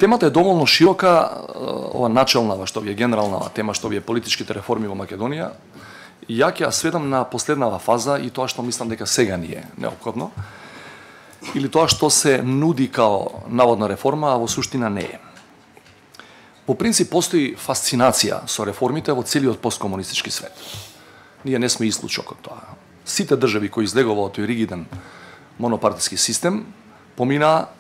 Темата е доволно широка, ова начелна, што ви е генерална тема, што ви е политичките реформи во Македонија. Ја ќе ја сведам на последнава фаза и тоа што мислам дека сега ни е неопходно, или тоа што се нуди као наводна реформа, а во суштина не е. По принцип, постои фасцинација со реформите во целиот посткомунистички свет. Ние не сме исклучок од тоа. Сите држави кои излегува од тој ригиден монопартиски систем поминаа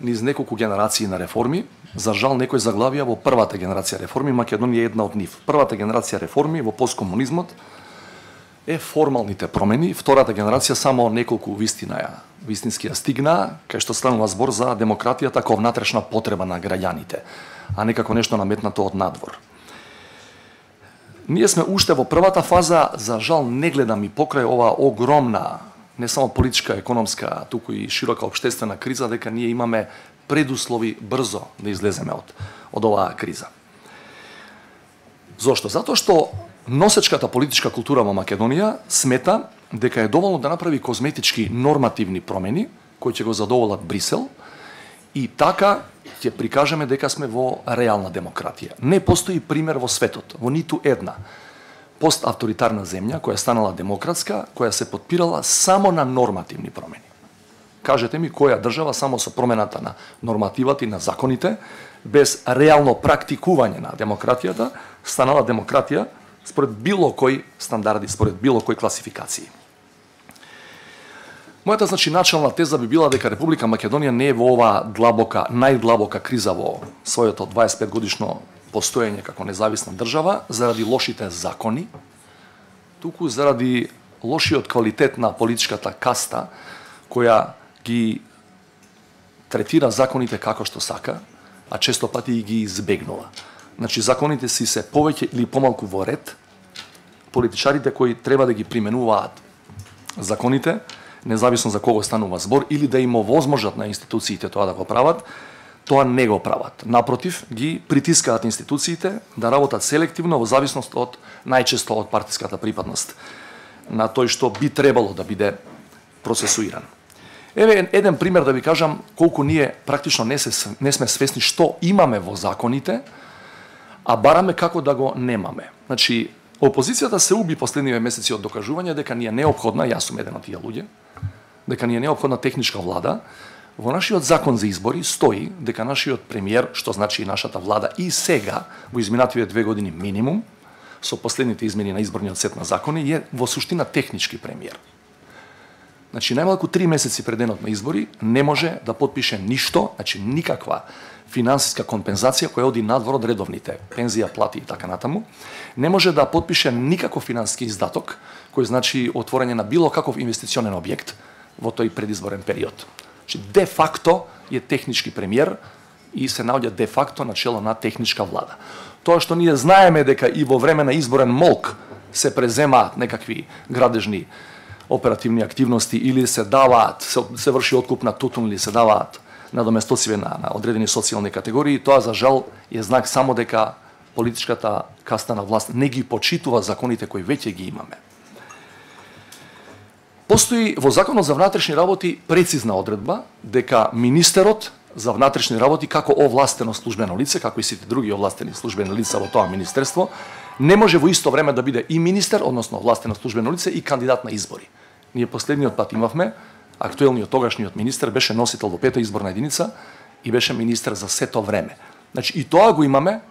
низ неколку генерации на реформи. За жал, некои заглавија во првата генерација реформи, Македонија е една од нив. Првата генерација реформи во посткомунизмот е формалните промени, втората генерација само неколку вистински ја стигна, кај што станува збор за демократијата како внатрешна потреба на граѓаните, а не како нешто наметнато од надвор. Ние сме уште во првата фаза, за жал не гледам и покрај ова огромна, не само политичка, економска, туку и широка општествена криза, дека ние имаме предуслови брзо да излеземе од оваа криза. Зошто? Затоа што носечката политичка култура во Македонија смета дека е доволно да направи козметички нормативни промени кои ќе го задоволат Брисел и така ќе прикажеме дека сме во реална демократија. Не постои пример во светот, во ниту една поставторитарна земја која станала демократска, која се потпирала само на нормативни промени. Кажете ми која држава само со промената на нормативата и на законите, без реално практикување на демократијата, станала демократија според било кој стандарди, според било кој класификации. Мојата начална теза би била дека Република Македонија не е во оваа најдлабока криза во своето 25 годишно постоење како независна држава заради лошите закони, туку заради лошиот квалитет на политичката каста која ги третира законите како што сака, а често пати и ги избегнува. Значи, законите си се повеќе или помалку во ред, политичарите кои треба да ги применуваат законите, независно за кого станува збор, или да им овозможат на институциите тоа да го прават, тоа не го прават. Напротив, ги притискаат институциите да работат селективно во зависност од најчесто од партиската припадност на тој што би требало да биде процесуиран. Еве еден пример да ви кажам колку ние практично не сме свесни што имаме во законите, а бараме како да го немаме. Значи, опозицијата се уби последниве месеци од докажување дека ни е неопходна, јас сум еден од тие луѓе, дека ни е неопходна техничка влада. Во нашиот закон за избори стои дека нашиот премиер, што значи и нашата влада и сега, во изминативе 2 години минимум, со последните измени на изборниот сет на закони, е во суштина технички премиер. Значи, најмалку 3 месеци пред денот на избори не може да потпише ништо, значи никаква финансиска компензација која оди надвор од редовните пензија, плати и така натаму, не може да потпише никаков финансиски издаток кој значи отворање на било каков инвестиционен објект во тој предизборен период. Значи, де факто е технички премиер и се наоѓа де факто на чело на техничка влада. Тоа што ние знаеме дека и во време на изборен молк се преземаат некакви градежни оперативни активности или се даваат, се врши откуп на тутун или се даваат надоместоци на одредени социјални категории, тоа за жал е знак само дека политичката каста на власт не ги почитува законите кои веќе ги имаме. Постои во Законот за внатрешни работи прецизна одредба дека министерот за внатрешни работи како овластено службено лице, како и сите други овластени службени лица во тоа министерство, не може во исто време да биде и министер, односно овластено службено лице, и кандидат на избори. Ние последниот пат имавме, актуелниот тогашниот министер беше носител во 5-та изборна единица и беше министер за сето време. Значи и тоа го имаме,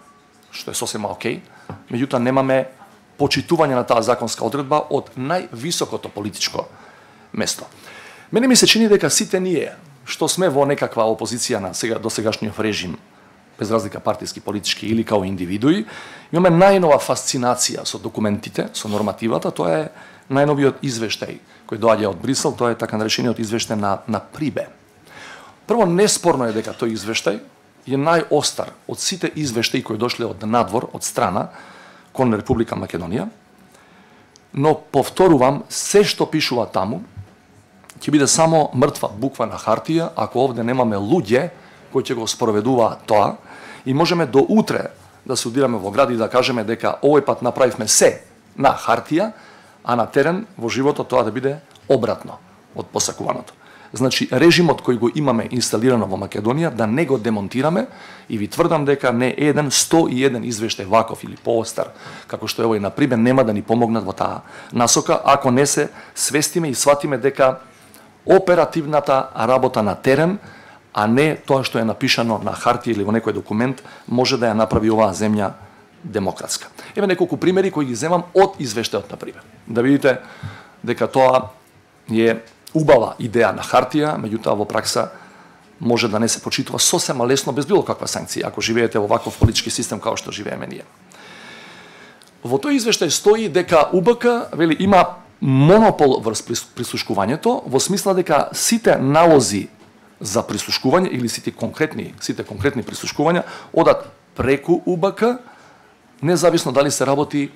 што е сосема окей, меѓутоа немаме почитување на таа законска одредба од највисокото политичко место. Мене ми се чини дека сите ние што сме во некаква опозиција на досегашниот режим, без разлика партиски, политички или као индивидуи, имаме најнова фасцинација со документите, со нормативата, тоа е најновиот извештај кој доаѓа од Брисел, тоа е така наречениот извештај на Прибе. Прво, неспорно е дека тој извештај е најостар од сите извештаи кои дошле од надвор, од страна, кон Република Македонија, но повторувам, се што пишува таму, ќе биде само мртва буква на хартија, ако овде немаме луѓе кои ќе го спроведуваат тоа, и можеме до утре да се удираме во град и да кажеме дека овој пат направивме се на хартија, а на терен во животот тоа да биде обратно од посакуваното. Значи, режимот кој го имаме инсталирано во Македонија, да не го демонтираме и ви тврдам дека не еден 101 извештај ваков или поостар, како што е овој, например, нема да ни помогнат во таа насока, ако не се свестиме и сватиме дека оперативната работа на терен, а не тоа што е напишано на хартија или во некој документ, може да ја направи оваа земја демократска. Еве неколку примери кои ги земам од извештајот, на пример. Да видите дека тоа е убава идеја на хартија, меѓутоа во пракса може да не се почитува сосема лесно без било каква санкција, ако живеете во ваков политички систем како што живееме ние. Во тој извештај стои дека УБК вели има монопол врз прислушкувањето, во смисла дека сите налози за прислушкување или сите конкретни прислушкувања одат преку УБК, независно дали се работи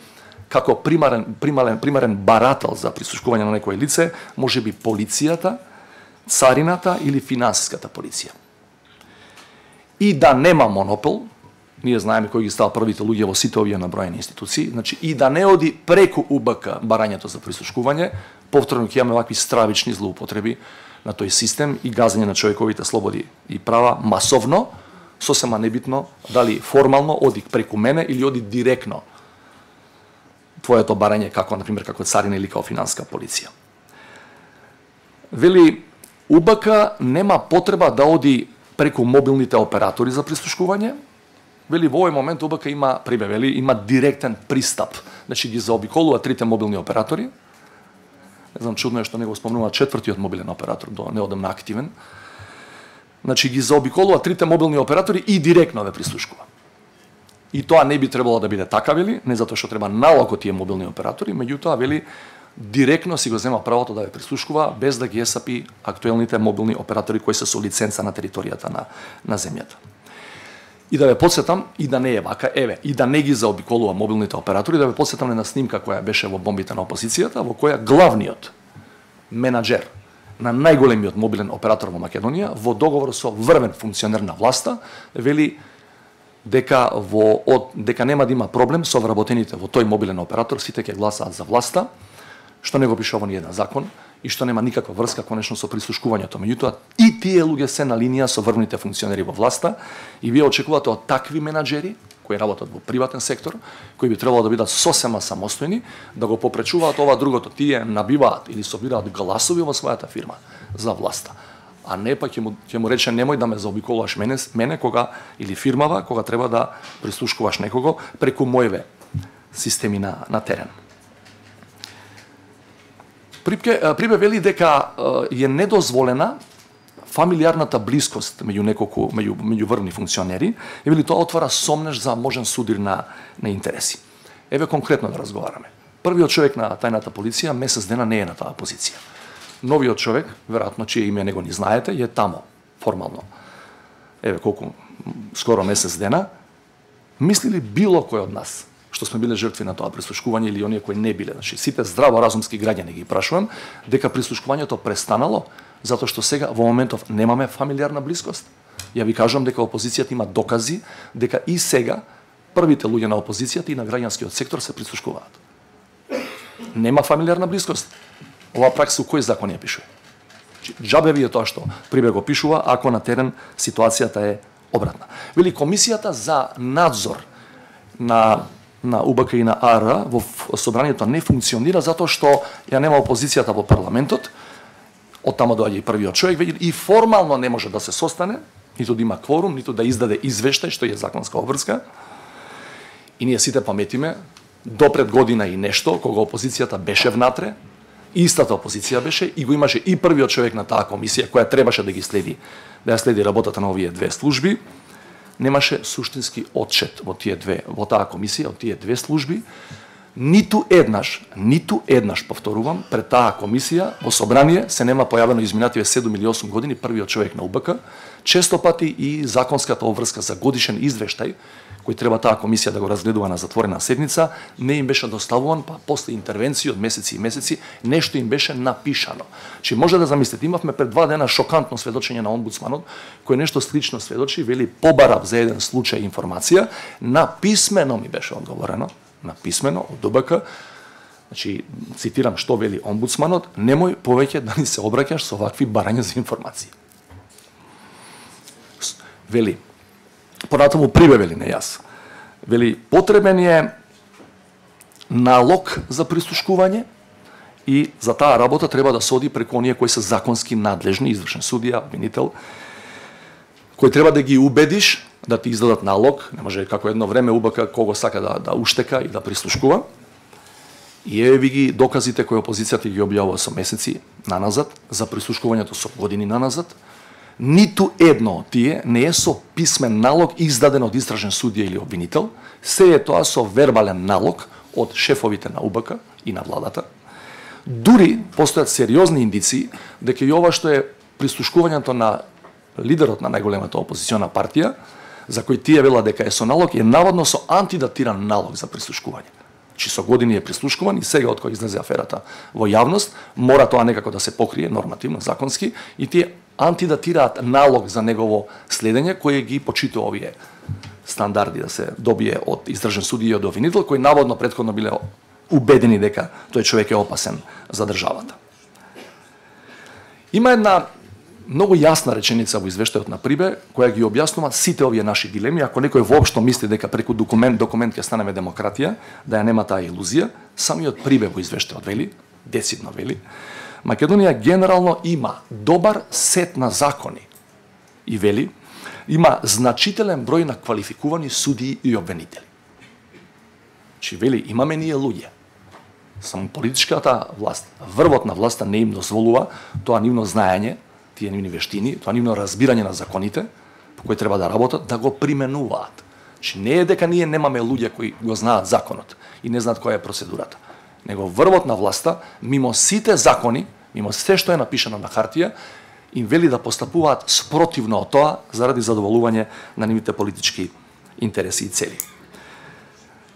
како примарен барател за прислушкување на некое лице, може би полицијата, царината или финансиската полиција. И да нема монопол, ние знаеме кои ги става првите луѓе во сите овие наброени институции, значи и да не оди преку УБК барањето за прислушкување, повторно ќе имаме вакви стравични злоупотреби на тој систем и газење на човековите слободи и права масовно, сосема небитно дали формално оди преку мене или оди директно твоето барање како, например, како царина или како финанска полиција. Вели, УБК нема потреба да оди преку мобилните оператори за прислушкување. Вели, во овој момент УБК има, вели, има директен пристап. Значи, ги заобиколува трите мобилни оператори. Не знам, чудно е што не го спомнува четвртиот мобилен оператор, неодамна активен. Значи, ги заобиколува трите мобилни оператори и директно ве прислушкува. И тоа не би требало да биде така, вели, не затоа што треба налог од тие мобилни оператори, меѓутоа, вели, директно си го зема правото да ве прислушкува без да ги есапи актуелните мобилни оператори кои се со лиценца на територијата на земјата. И да ве подсетам, и да не е вака, еве, и да не ги заобиколува мобилните оператори, да ве подсетам на снимка која беше во бомбите на опозицијата, во која главниот менаџер на најголемиот мобилен оператор во Македонија, во договор со врвен функционер на власта, вели дека нема да има проблем со вработените во тој мобилен оператор, сите ќе гласаат за власта, што не го пише во ниеден закон и што нема никаква врска конечно со прислушкувањето. Меѓутоа, и тие луѓе се на линија со врвните функционери во власта и вие очекувате од такви менаџери кои работат во приватен сектор, кои би требало да бидат сосема самостојни, да го попречуваат ова другото, тие набиваат или собираат гласови во својата фирма за власта. А не па ќе му рече немој да ме заобиколуваш мене кога или фирмава кога треба да прислушкуваш некого преку мојве системи на терен. Прибе вели дека е недозволена фамилиарната блискост меѓу врвни функционери, и вели тоа отвара сомнеш за можен судир на интереси. Еве конкретно да разговараме. Првиот човек на тајната полиција месец дена не е на таа позиција. Новиот човек, веројатно чие име него ни знаете, е тамо формално. Еве колку скоро месец дена. Мисли ли било кој од нас што сме биле жртви на тоа прислушкување или оние кои не биле, значи сите здраворазумски граѓани ги прашувам, дека прислушкувањето престанало затоа што сега во моментов немаме фамилиарна блискост? Ја ви кажувам дека опозицијата има докази дека и сега првите луѓе на опозицијата и на граѓанскиот сектор се прислушкуваат. Нема фамилиарна блискост. Ова пракса у кој закон ја пишува? Џабе ви е тоа што прибе го пишува ако на терен ситуацијата е обратна. Вели комисијата за надзор на УБК и на АР во собранието не функционира затоа што ја нема опозицијата во парламентот. Од тамо доаѓа и првиот човек, веќе и формално не може да се состане, ниту да има кворум, ниту да издаде извештај, што е законска обврска. И ние сите паметиме, до пред година и нешто, кога опозицијата беше внатре, истата опозиција беше и го имаше и првиот човек на таа комисија која требаше да ја следи работата на овие две служби, немаше суштински отчет во таа комисија, од тие две служби, ниту еднаш, повторувам, пред таа комисија во собрание се нема појавено изминативе 7 или 8 години првиот човек на УБК, често пати и законската обврска за годишен извештај кој треба таа комисија да го разгледува на затворена седница, не им беше доставуван, па после интервенции од месеци и месеци, нешто им беше напишано. Че може да замислите, имавме пред 2 дена шокантно сведочење на омбудсманот, кој нешто слично сведочи, вели побарав за еден случај информација, на писмено ми беше одговорено, на писмено од УБК, Значи, цитирам што вели омбудсманот, немој повеќе да ни се обраќаш со вакви барања за информации. Вели, понатаму прибавели не јас. Вели, потребен е налог за прислушкување и за таа работа треба да се оди преку оние кои се законски надлежни, извршен судија, обвинител, кој треба да ги убедиш да ти издадат налог, не може како едно време УБК кого сака да уштека и да прислушкува. И еве ви ги доказите кои опозицијата ги објавува со месеци наназад, за прислушкувањето со години наназад. Ниту едно од тие не е со писмен налог издаден од истражен судија или обвинител, се е тоа со вербален налог од шефовите на УБК и на владата. Дури постојат сериозни индиции дека и ова што е прислушкувањето на лидерот на најголемата опозициона партија, за кој тие велат дека е со налог, е наводно со антидатиран налог за прислушкување. Чи со години е прислушкуван и сега од кога излезе аферата во јавност, мора тоа некако да се покрие нормативно, законски, и тие антидатираат налог за негово следење, кој ги почитува овие стандарди да се добие од издржан судија и од обвинител, кои наводно претходно биле убедени дека тој човек е опасен за државата. Има една многу јасна реченица во извештајот на Прибе, која ги објаснува сите овие наши дилеми. Ако некој воопшто мисли дека преку документ ќе станеме демократија, да ја нема таа илузија, самиот Прибе во извештајот вели, децидно вели, Македонија генерално има добар сет на закони и вели, има значителен број на квалификувани судии и обвинители. Чи вели, имаме ние луѓе. Само политичката власт, врвот на власта не им дозволува тоа нивно знаење, тие нивни вештини, тоа нивно разбирање на законите, по кои треба да работат, да го применуваат. Чи не е дека ние немаме луѓе кои го знаат законот и не знаат која е процедурата. Него врвот на власта, мимо сите закони, мимо се што е напишано на хартија, им вели да постапуваат спротивно од тоа заради задоволување на нивните политички интереси и цели.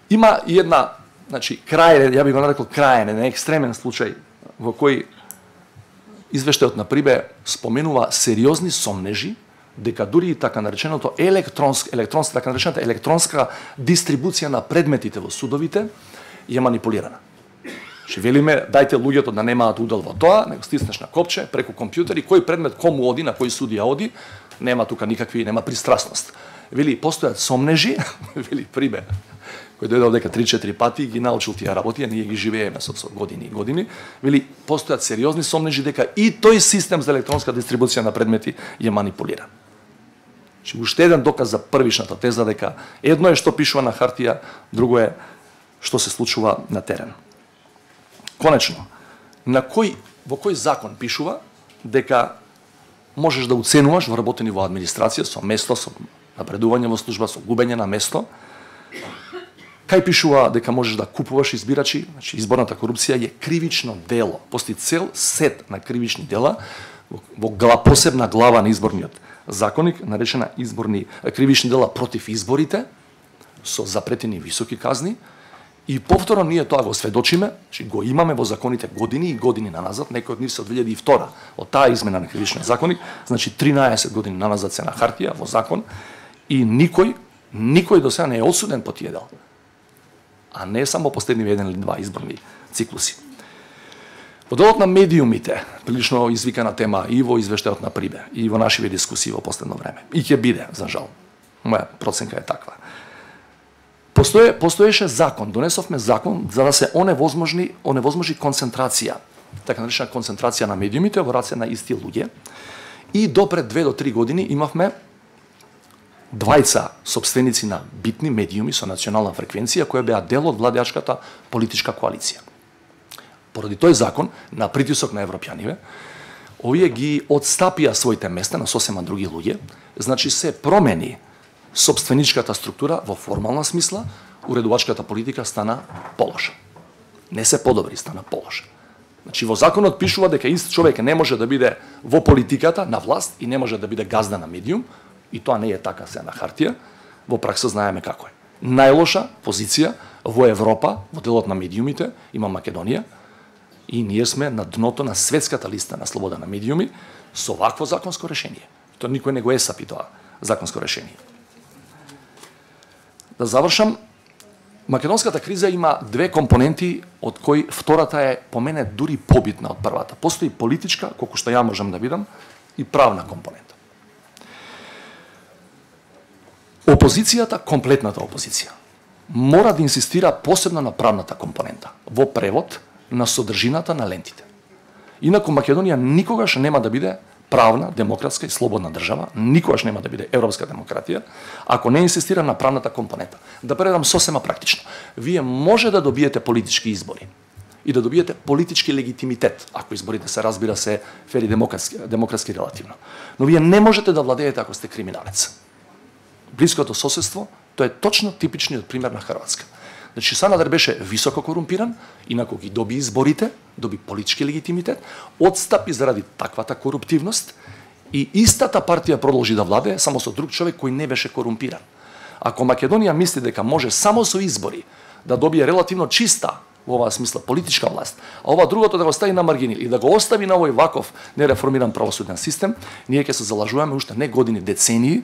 Има и една, значи, крајен, ја би го нарекол крајен, не екстремен случај во кој извештајот на Прибе споменува сериозни сомнежи дека дури и така нареченото така наречената електронска дистрибуција на предметите во судовите е манипулирана. Че велиме, дајте луѓето да немаат удел во тоа, него стиснеш на копче, преку компјутер и кој предмет кому оди, на кој судија оди, нема тука никакви, нема пристрасност. Вели, постојат сомнежи, вели Прибе, кој дојде овдека 3-4 пати, ги научил тие работи, а ние ги живееме со години и години, вели, постојат сериозни сомнежи дека и тој систем за електронска дистрибуција на предмети е манипулиран. Че уште еден доказ за првишната теза дека едно е што пишува на хартија, друго е што се случува на терен. Конечно, во кој закон пишува дека можеш да уценуваш вработени во администрација со место, со напредување во служба, со губење на место? Кај пишува дека можеш да купуваш избирачи? Значи, изборната корупција е кривично дело. Постои цел сет на кривични дела во посебна глава на изборниот законник, наречена кривични дела против изборите, со запретени високи казни. И повторно ние тоа го сведочиме, че го имаме во законите години и години наназад, некои од нив се од 2002 од таа измена на кривичниот законник, значи 13 години наназад се на хартија во закон, и никој до сега не е осуден по тие дела. А не само последниви 1 или 2 изборни циклуси. Во делот на медиумите, прилично извикана тема и во извештајот на Прибе, и во нашиве дискусии во последно време. И ќе биде, за жал. Моја проценка е таква. Постоеше закон, донесовме закон за да се оневозможи концентрација, така наречена концентрација на медиумите во раце на исти луѓе. И допред 2 до 3 години имавме двајца сопственици на битни медиуми со национална фреквенција кои беа дел од владеачката политичка коалиција. Поради тој закон, на притисок на европјаниве, овие ги одстапија своите места на сосема други луѓе, значи се промени сопственичката структура во формална смисла, уредувачката политика стана полоша. Не се подобри, стана полоша. Значи во законот пишува дека ист човек не може да биде во политиката на власт и не може да биде газда на медиум, и тоа не е така се на хартија, во пракса знаеме како е. Најлоша позиција во Европа, во делот на медиумите, има Македонија, и ние сме на дното на светската листа на слобода на медиуми со вакво законско решение. Тоа никој не го есапи тоа законско решение. Да завршам, Македонската криза има две компоненти, од кои втората е по мене дури побитна од првата. Постои политичка, колку што ја можам да видам, и правна компонента. Опозицијата, комплетната опозиција, мора да инсистира посебно на правната компонента, во превод на содржината на лентите. Инаку Македонија никогаш нема да биде правна, демократска и слободна држава, никогаш нема да биде европска демократија, ако не инсистира на правната компонента. Да предам сосема практично. Вие може да добиете политички избори и да добиете политички легитимитет, ако изборите се разбира се фери демократски релативно. Но вие не можете да владеете ако сте криминалец. Блиското соседство, тоа е точно типичниот пример на Хрватска. Значи Санадер беше високо корумпиран, инаку ги доби изборите, доби политички легитимитет, одстапи заради таквата коруптивност и истата партија продолжи да владее само со друг човек кој не беше корумпиран. Ако Македонија мисли дека може само со избори да добие релативно чиста во оваа смисла политичка власт, а ова другото да го стави на маргини и да го остави на овој ваков нереформиран правосуден систем, ние ќе се залажуваме уште не години, децении